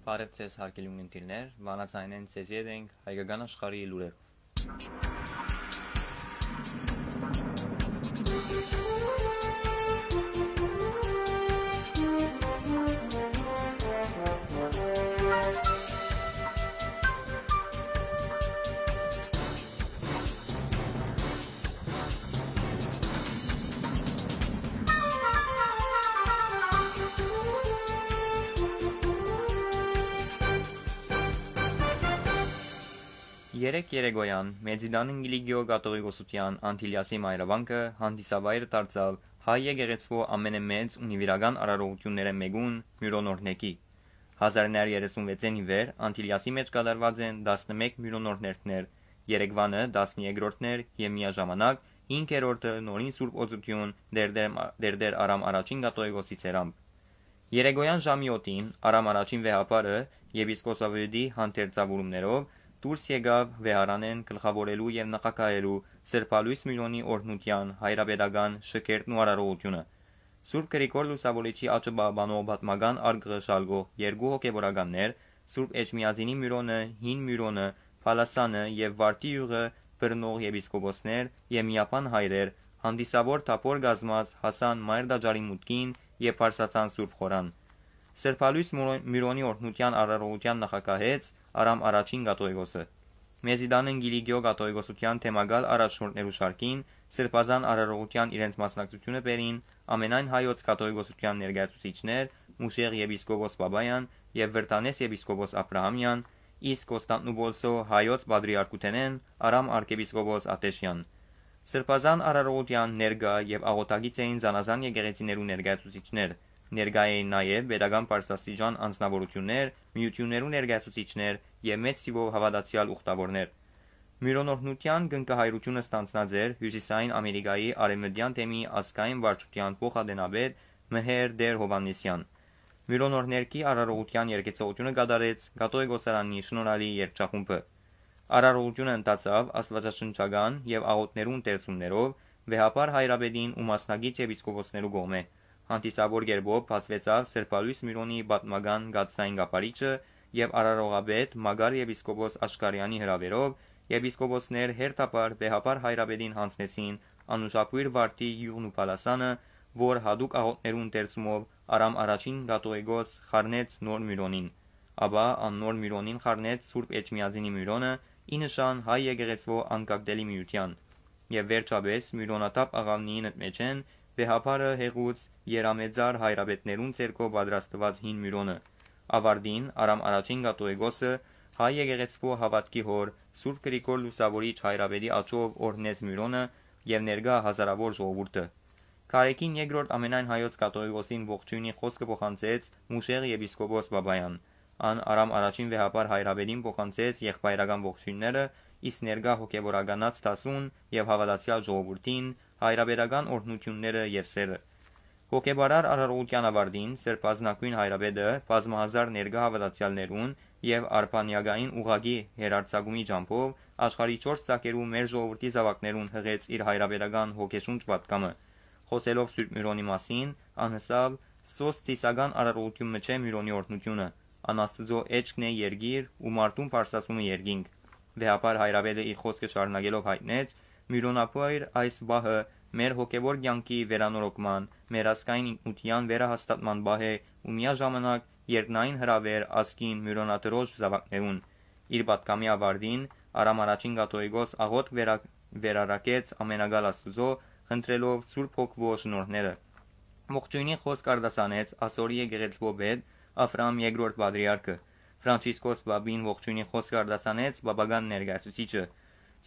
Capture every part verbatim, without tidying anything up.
Բարև ձեզ, հարգելի ունգընտիրներ, Վանաձայնէն ձեզ ետ ենք հայկական աշխարհի լուրերով։ Երեկ երեկոյան Մեծիդան Կիլիկիո կաթողիկոսութեան Անտիլիասի մայրավանքը հանդիսավայր դարձաւ հայ եկեղեցւոյ ամենամեծ ու նուիրական արարողութիւններէն մէկուն՝ Միւռոնօրհնեքի։ Հազար նոր երեսուն վեցէն ի վեր Անտիլիասի մէջ կատարուած են տասնմէկ միւռոնօրհներթներ, երեգվանը տասներկրորդն էր եւ միաժամանակ հինգերորդը նորին Սուրբ Օծութիւն Տէրտէր Մա-, Տէրտէր Արամ Առաջին կաթողիկոսի ցերամբ։ Երեկոյան ժամի յոթին Արամ Առաջին վեհափառը եպիսկոպոսաւետի հանդերձաւորումներով դուրս եկաւ վեհարանէն գլխաւորելու եւ նախագահելու Սրբալոյս Միւռոնի օրհնութեան հայրապետական շքերթն ու արարողութիւնը։ Սուրբ Գրիգոր Լուսաւորիչի աճը պահպանող պատմական արկղը շալկող երկու հոգեվորականներ, Սուրբ Էջմիածինի Միւռոնը, Հին Միւռոնը, Փալասանը եւ Վարդի յուղը բռնող եպիսկոպոսներ եւ միաբան հայրեր, հանդիսաւոր թափօր կազմած հասան Մայր Տաճարի մուտքին եւ բարձրացան Սուրբ Խորան։ Սրբալոյս Մուրո-, Միւռոնի օրհնութեան արարողութեան նախագահեց Արամ Առաջին կաթողիկոսը։ Մեծիդան Կիլիկիո կաթողիկոսութեան թեմակալ առաջնորդներու շարքին Սրբազան արարողութեան իրենց մասնակցութիւնը բերին ամենայն հայոց կաթողիկոսութեան ներկայացուցիչներ՝ Մուշեղ եպիսկոպոս Պապաեան եւ Վրտանէս եպիսկոպոս Աբրահամեան, իսկ Կոստանդնուպոլսոյ հայոց պատրիարքութենէն Արամ արքեպիսկոպոս Աթէշեան։ Սրբազան արարողութեան ներկայ եւ աղօթակից էին զանազան եկեղեցիներու ներկայացուցիչներ, ներկայ էին նաեւ պետական բարձրաստիճան անձնաւորութիւններ, միութիւններու ներկայացուցիչներ եւ մեծ թիւով հաւատացեալ ուխտաւորներ։ Միւռոնօրհնութեան կնքահայրութիւնը ստանձնած էր Հիւսիսային Ամերիկայի արեւմտեան թեմի ազգային վարչութեան փոխադենապետ Մհեր Տէր Յովհաննիսեան։ Միւռոնօրհներքի արարողութեան երգեցողութիւնը կատարեց կաթողիկոսարանի շնորհալի երգչախումբը։ Արարողութիւնը ընթացաւ աստուածաշնչական եւ աղօթներու ընթերցումներով վեհափառ հայրապետին ու մասնակից եպիսկոպոսներու կողմէ։ Հանդիսաւոր կերպով բացուեցաւ Սրբալոյս Միւռոնի պատմական կաթսային կափարիչը եւ արարողապետ Մակար եպիսկոպոս Աշկարեանի հրաւերով եպիսկոպոսներ հերթաբար վեհափառ հայրապետին յանձնեցին անուշաբոյր Վարդի յուղն ու Փալասանը, որ յատուկ աղօթներու ընթերցումով Արամ Առաջին կաթողիկոս խառնեց Նոր Միւռոնին, ապա ան Նոր Միւռոնին խառնեց Սուրբ Էջմիածինի Միւռոնը՝ ի նշան հայ եկեղեցւոյ անկակտելի միութեան։ Եւ վերջապէս Միւռոնաթափ աղաւնիին մէջէն վեհափառը հեղուց երամեծար հայրապետներուն ձեռքով պատրաստուած Հին Միւռոնը։ Ավարտին Արամ Առաջին կաթողիկոսը հայ եկեղեցւոյ հաւատքի հօր Սուրբ Գրիգոր Լուսաւորիչ հայրապետի աջով օրհնեց Միւռոնը եւ ներկայ հազարաւոր ժողովուրդը։ Կարեգին երկրորդ ամենայն հայոց կաթողիկոսին ողջոյնի խօսքը փոխանցեց Մուշեղ եպիսկոպոս Պապաեան։ Ան Արամ Առաջին վեհափառ հայրապետին փոխանցեց եղբայրական ողջոյնները, իսկ ներկայ հոգեվորականաց դասուն եւ հաւատացեալ ժողովուրդին հայրապետական օրհնութիւնները եւ սերը։ Հոգեբարար արարողութեան ավարտին Սրբազնագոյն հայրապետը բազմահազար ներկայ հաւատացեալներուն եւ արբանյակային ուղղակի հեռարձակումի ճամբով աշխարհի չորս ծագերու մեր ժողովրդի զաւակներուն յղեց իր հայրապետական հոգեշունչ պատգամը։ Խօսելով Սուրբ Միւռոնի մասին, ան ըսաւ. «Սոս ծիսական արարողութիւն մը չէ Միւռոնի օրհնութիւնը։ Ան Աստուծոյ էջքն է երկիր ու մարդուն բարձրացումը երկինք»։ Վեհափառ հայրապետը իր խօսքը շարունակելով յայտնեց. «Միւռոնաբոյր այս պահը մեր հոգեվոր կեանքի վերանորոգման, մեր ազգային ինքնութեան վերահաստատման պահ է ու միաժամանակ երկնային հրաւեր ազգին Միւռոնատրոջ զաւակներուն»։ Իր պատգամի ավարտին Արամ Առաջին կաթողիկոս աղօթք վերա-, վերարակեց Ամենակալ Աստուծոյ՝ խնդրելով Սուրբ Հոգուոյ շնորհները։ Ողջոյնի խօսք արտասանեց Ասորի եկեղեցւոյ պետ Աբրահամ Երկրորդ Պատրիարքը։ Ֆրանցիսկոս Պապին ողջոյնի խօսք արտասանեց պապական ներկայացուցիչը։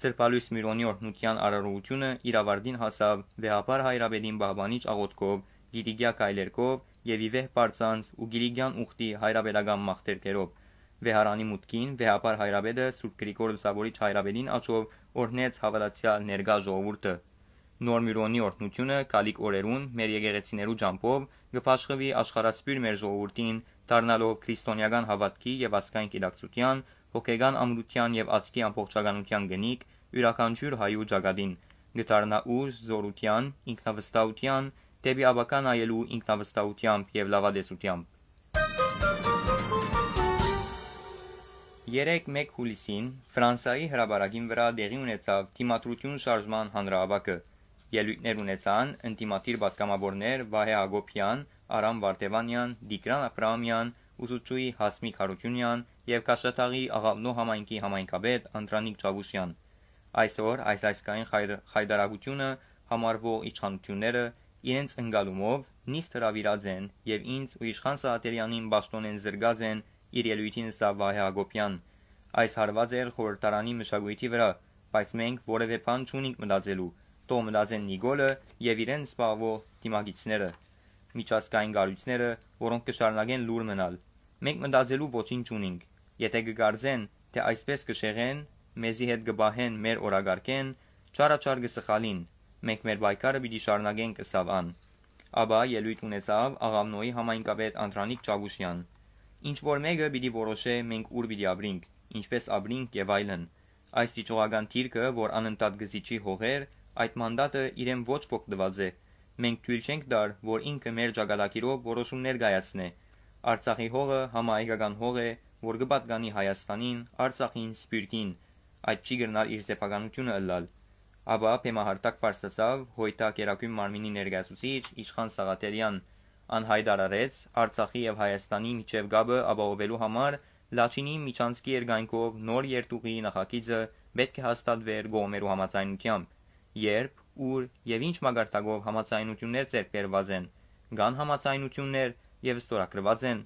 Սրբալոյս Միւռոնի օրհնութեան արարողութիւնը իր ավարտին հասաւ վեհափառ հայրապետին պահպանիչ աղօթքով, կիլիկեայ քայլերգով եւ ի վեհ պարծանց ու կիլիկեան ուխտի հայրապետական մաղթերգերով։ Վեհարանի մուտքին վեհափառ հայրապետը Սուրբ Գրիգոր Լուսաւորիչ հայրապետին աջով օրհնեց հաւատացեալ ներկայ ժողովուրդը։ Նոր Միւռոնի օրհնութիւնը գալիք օրերուն մեր եկեղեցիներու ճամբով կը բաշխուի աշխարհասփիւռ մեր ժողովուրդին, դառնալով քրիստոնեական հաւատքի եւ ազգային գիտակցութեան, հոգեկան ամրութեան եւ ազգի ամբողջականութեան կնիք, իւրաքանչիւր հայու ճակատին, կը դառնայ ուժ, զօրութեան, ինքնավստահութեան, դէպի ապագայ նայելու ինքնավստահութեամբ եւ լաւատեսութեամբ։ Երեկ, մէկ յուլիսին, Ֆրանսայի հրապարակին վրայ տեղի ունեցաւ Դիմադրութիւն շարժման հանրահաւաքը։ Ելոյթներ ունեցան ընդդիմադիր պատգամաւորներ Վահէ Յակոբեան, Արամ Վարդեւանեան, Տիգրան Աբրահամեան, ուսուցչուհի Հասմիկ Յարութիւնեան եւ Քաշաթաղի Աղաւնոյ համայնքի համայնքապետ Անդրանիկ Չաւուշեան։ Այսօր այս ազգային խայր-, խայտարակութիւնը համարուող իշխանութիւնները իրենց ընկալումով նիստ հրաւիրած են եւ ինձ ու Իշխան Սաղաթելեանին պաշտօնէն զրկած են, իր ելոյթին ըսաւ Վահէ Յակոբեան։ Այս հարուած էր խորհրդարանի մշակոյթի վրայ, բայց մենք որեւէ բան չունինք մտածելու, թող մտածեն Նիկոլը եւ իրեն զբաղուող դիմագիծները, միջազգային կառոյցները, որոնք կը շարունակեն լուռ մնալ։ Մենք մտածելու ոչինչ չունինք։ Եթէ կը կարծեն, թէ այսպէս կը շեղեն, մեզի հետ կը պահեն, մեր օրակարգէն, չարաչար կը սխալին։ Մենք մեր պայքարը պիտի շարունակենք, ըսաւ ան։ Ապա ելոյթ ունեցաւ Աղաւնոյի համայնքապետ Անդրանիկ Չաւուշեան։ Ինչ որ մէկը պիտի որոշէ, մենք ուր պիտի ապրինք, ինչպէս ապրինք եւ այլն։ Այս դիճողական դիրքը, որ անընդհատ կը զիջի հողեր, այդ մանդատը իրեն ոչ ոք տուած է։ Մենք թոյլ չենք տար, որ ինքը մեր ճակատագիրով որոշումներ կայացնէ։ Արցախի հողը համահայկական հող է, որ կը պատկանի Հայաստանին, Արցախին, Սփիւռքին։ Այդ չի կրնար իր սեփականութիւնը ըլլալ։ Ապա բեմահարթակ բարձրացաւ Հոյտա Կերակոյն մարմինի ներկայացուցիչ Իշխան Սաղաթելեան։ Ան յայտարարեց Արցախի եւ Հայաստանի միջեւ կապը ապահովելու համար Լաչինի միջանցքի երկայնքով նոր երթուղիի նախագիծը պէտք է հաստատուէր կողմերու համաձայնութեամբ։ Երբ, ուր եւ ինչ մակարդակով համաձայնութիւններ ձեռք բերուած են, կան համաձայնութիւններ եւ ստորագրուած են,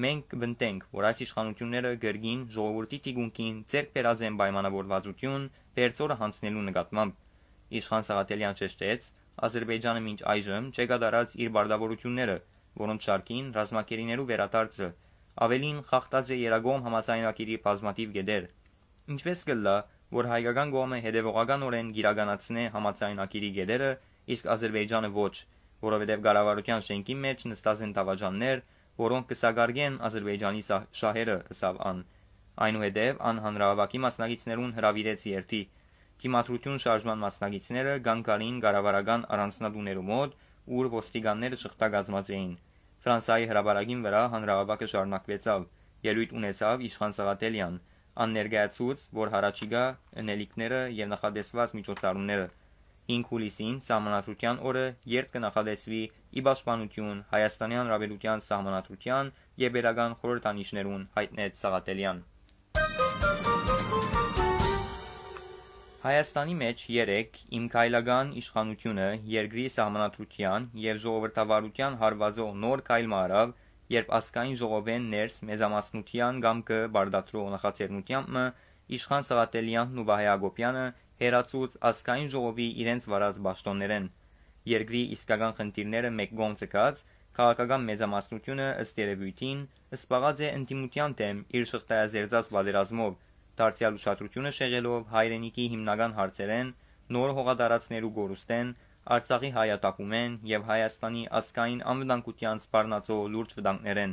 մենք կպնդենք, որ այս իշխանութիւնները կրկին ժողովուրդի թիկունքին ձեռք բերած են պայմանավորվածութիւն բերձորը յանձնելու նկատմամբ։ Իշխան Սաղաթելեան շեշտեց, Ադրբեջանը մինչ այժմ չէ կատարած իր պարտաւորութիւնները, որոնց շարքին ռազմագերիներու վերադարձը, աւելին, խախտած է եռակողմ համաձայնագիրի բազմաթիւ կետեր։ Ինչպէս կ'ըլլայ, որ հայկական կողմը հետեւողականօրէն կիրականացնէ համաձայնագիրի կետերը, իսկ Ադրբեջանը ոչ, որովհետեւ կառավարութեան շէնքին մէջ նստած են դաւաճաններ, որոնք կը սակարկեն Ադրբեջանի սա-, շահերը, ըսաւ ան։ Այնուհետեւ ան հանրահաւաքի մասնակիցներուն հրաւիրեց երթի։ Դիմադրութիւն շարժման մասնակիցները կանգ առին կառավարական առանձնատուներու մօտ, ուր ոստիկանները շղթայ կազմած էին։ Ֆրանսայի հրապարակին վրայ հանրահաւաքը շարունակուեցաւ։ Ելոյթ ունեցաւ Իշխան Սաղաթելեան։ Ան ներկայացուց, որ յառաջիկայ ընելիքները եւ նախատեսուած միջոցառումները։ Հինգ յուլիսին, Սահմանադրութեան օրը, երթ կը նախատեսուի ի պաշտպանութիւն Հայաստանեան Հանրապետութեան Սահմանադրութեան եւ Պետական խորհրդանիշներուն, յայտնեց Սաղաթելեան։ Հայաստանի մէջ երեկ Իմ քայլական իշխանութիւնը երկրի սահմանադրութեան եւ ժողովրդավարութեան հարուածող նոր քայլ մը առաւ, երբ ազգային ժողովէն ներս մեծամասնութեան կամքը պարտադրող նախաձեռնութեամբ մը Իշխան Սաղաթելեանն ու Վահէ Յակոբեանը հեռացուց ազգային ժողովի իրենց վարած պաշտօններէն։ Երկրի իսկական խնդիրները մէկ կողմ ձգած, քաղաքական մեծամասնութիւնը, ըստ երեւոյթին, սպաղած է ընդդիմութեան դէմ իր շղթայազերծած պատերազմով, դարձեալ ուշադրութիւնը շեղելով հայրենիքի հիմնական հարցերէն, նոր հողատարածքներու կորուստէն, Արցախի հայատակումէն եւ Հայաստանի ազգային անվտանգութեան սպառնացող լուրջ վտանգներէն։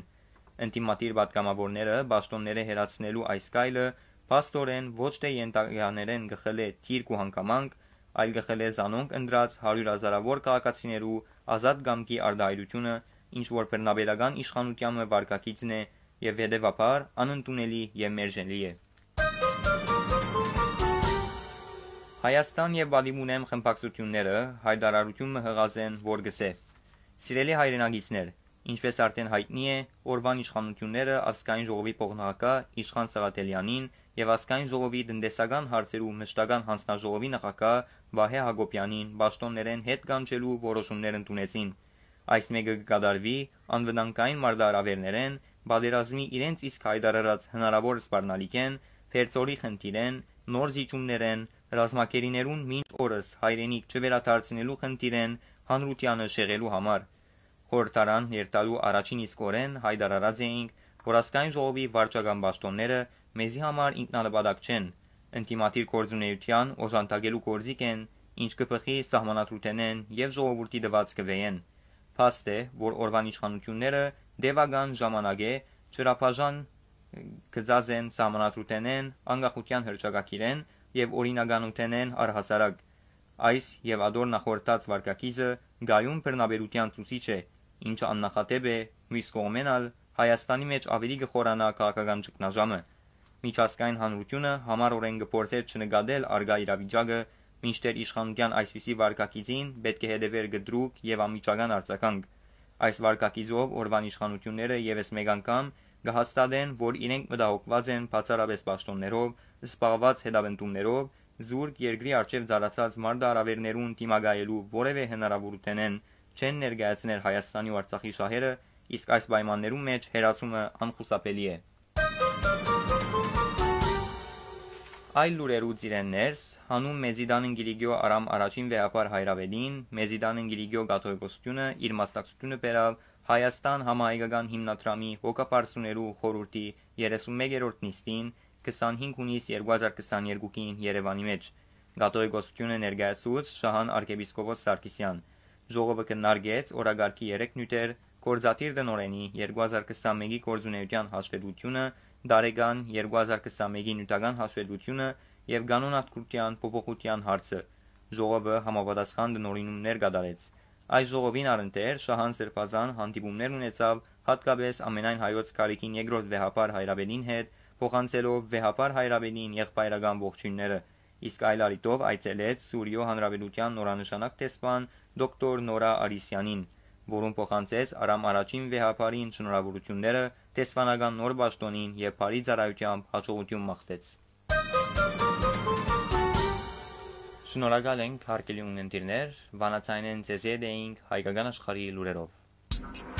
Ընդդիմադիր պատգամաւորները պաշտօնները հեռացնելու այս քայլը փաստօրէն ոչ թէ յենթականերէն կը խլէ դիրք ու հանգամանք, այլ կը խլէ զանոնք ընտրած հարիւրհազարաւոր քաղաքացիներու ազատ կամքի արտահայտութիւնը, ինչ որ բռնապետական իշխանութեան մը վարկագիծն է եւ հետեւաբար անընդունելի եւ մերժելի է։ Հայաստան եւ Պատիվ ունեմ խմբակցութիւնները յայտարարութիւն մը յղած են, որ կ'ըսէ. «Սիրելի հայրենակիցներ, ինչպէս արդէն յայտնի է, օրուան իշխանութիւնները ազգային ժողովի փոխնախագահ Իշխան Սաղաթելեանին եւ ազգային ժողովի տնտեսական հարցերու մշտական յանձնաժողովի նախագահ Վահէ Յակոբեանին պաշտօններէն հետ կանչելու որոշումներ ընդունեցին։ Այս մէկը կը կատարուի անվտանգային մարտահրաւերներէն, պատերազմի իրենց իսկ յայտարարած հնարաւոր սպառնալիքէն, Պերձորի խնդիրէն, նոր զիջումներէն, ռազմագերիներուն մինչ օրս հայրենիք չվերադարձնելու խնդիրէն հանրութեանը շեղելու համար։ Խորհրդարան երթալու առաջին իսկ օրէն յայտարարած էինք, որ ազգային ժողովի վարչական պաշտօնները մեզի համար ինքնանպատակ չեն, ընդդիմադիր գործունեութեան օժանդակելու գործիք են, ինչ կը բխի սահմանադրութենէն եւ ժողովուրդի տուած կուէեն։ Փաստ է, որ օրուան իշխանութիւնները տեւական ժամանակ է ջրաբաժան գծած են սահմանադրութենէն, անկախութեան հռչակագիրէն եւ օրինականութենէն առհասարակ։ Այս եւ ատոր նախորդած վարկագիծը կայուն բռնապետութեան ցուցիչ է, ինչը աննախադէպ է, միւս կողմէն ալ Հայաստանի մէջ աւելի կը խորանայ քաղաքական ճգնաժամը։ Միջազգային հանրութիւնը յամառօրէն կը փորձէր չնկատել առկայ իրավիճակը, մինչդեռ իշխանութեան այսպիսի վարքագիծին պէտք է հետեւէր կտրուկ եւ անմիջական արձագանք։ Այս վարքագիծով օրուան իշխանութիւնները եւս մէկ անգամ կը հաստատեն, որ իրենք մտահոգուած են բացառապէս պաշտօններով, զբաղուած հետապնդումներով, զուրկ երկրի առջեւ ծառացած մարտահրաւէրներուն դիմակայելու որեւէ հնարաւորութենէն չեն ներկայացներ Հայաստանի ու Արցախի շահերը, իսկ այս պայմաններուն մէջ հեռացումը անխուսափելի է։ Այլ լուրերու ծիրեն ներս, հանուն Մեծիտան Ընկիլիկիո Արամ առաջին վեհափառ հայրապետին, Մեծիտան Ընկիլիկիո կաթողիկոսութիւնը իր մասնակցութիւնը բերաւ Հայաստան համահայկական հիմնադրամի հոգաբարձուներու խորհուրդի երեսունմեկերորդ նիստին, քսանհինգ յունիս երկու հազար քսաներկուին Երեւանի մէջ։ Կաթողիկոսութիւնը ներկայացուց Շահան արքեպիսկոպոս Սարգսեան։ Ժողովը քննարկեց օրակարգի երեք նիւթեր, գործադիր տնօրէնի երկու հազար քսանմէկի գործունեութեան հաշվետվութիւնը, տարեկան երկու հազար քսանմէկի նիւթական հաշվետվութիւնը եւ կանոնադրութեան փոփոխութեան հարցը։ Ժողովը համապատասխան տնօրինումներ կատարեց։ Այս ժողովին առընթեր Շահան սրբազան հանդիպումներ ունեցաւ յատկապէս ամենայն հայոց գալիքին երկրորդ վեհափառ հայրապետին հետ, փոխանցելով վեհափառ հայրապետին եղբայրական ողջոյնները, իսկ այլ առիթով այցելեց Սուրիոյ Հանրապետութեան նորանշանակ դեսպան դոկտոր Նորա Արիսեանին, որուն փոխանցեց Արամ առաջին վեհափառին շնորհաւորութիւնները դեսպանական նոր պաշտօնին եւ բարի ծառայութեամբ յաջողութիւն մաղթեց։ Շնորհակալ ենք, հարգելի ունգընտիրներ, Վանաձայնէն ձեզի հետ էինք հայկական աշխարհի լուրերով։